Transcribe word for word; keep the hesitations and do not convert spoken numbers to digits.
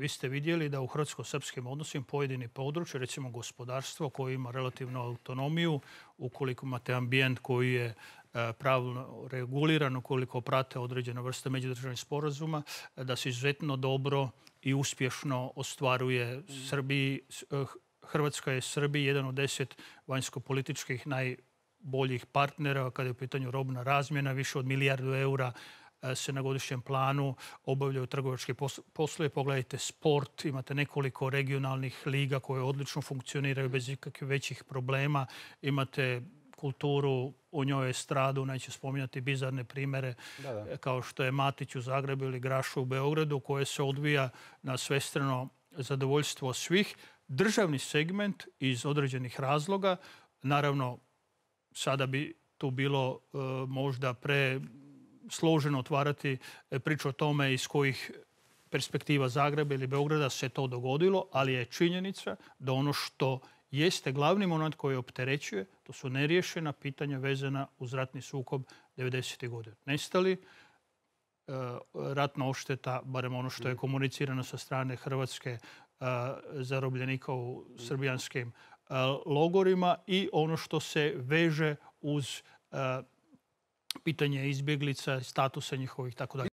Vi ste vidjeli da u hrvatsko-srpskim odnosima pojedini područje, recimo gospodarstvo koje ima relativnu autonomiju, ukoliko imate ambijent koji je pravilno reguliran, ukoliko prate određene vrste međudržavnih sporazuma, da se izuzetno dobro i uspješno ostvaruje Srbiji. Hrvatska je Srbiji jedan od deset vanjsko-političkih najboljih partnera kada je u pitanju robna razmjena. Više od milijardu eura se na godišnjem planu obavljaju trgovački poslovi. Pogledajte sport, imate nekoliko regionalnih liga koje odlično funkcioniraju bez ikakvih većih problema. Imate kulturu, u njoj estradu, neću spominjati bizarne primere da, da. kao što je Matić u Zagrebu ili Grašo u Beogradu, koje se odvija na svestrano zadovoljstvo svih. Državni segment iz određenih razloga, naravno sada bi tu bilo e, možda pre složeno otvarati priču o tome iz kojih perspektiva Zagreba ili Beograda se to dogodilo, ali je činjenica da ono što jeste glavni moment koji opterećuje, to su neriješena pitanja vezana uz ratni sukob devedesetih godina. Nestali, ratna odšteta, barem ono što je komunicirano sa strane Hrvatske, zarobljenika u srbijanskim logorima i ono što se veže uz pitanje izbjeglica, statusa njihovih i tako dalje.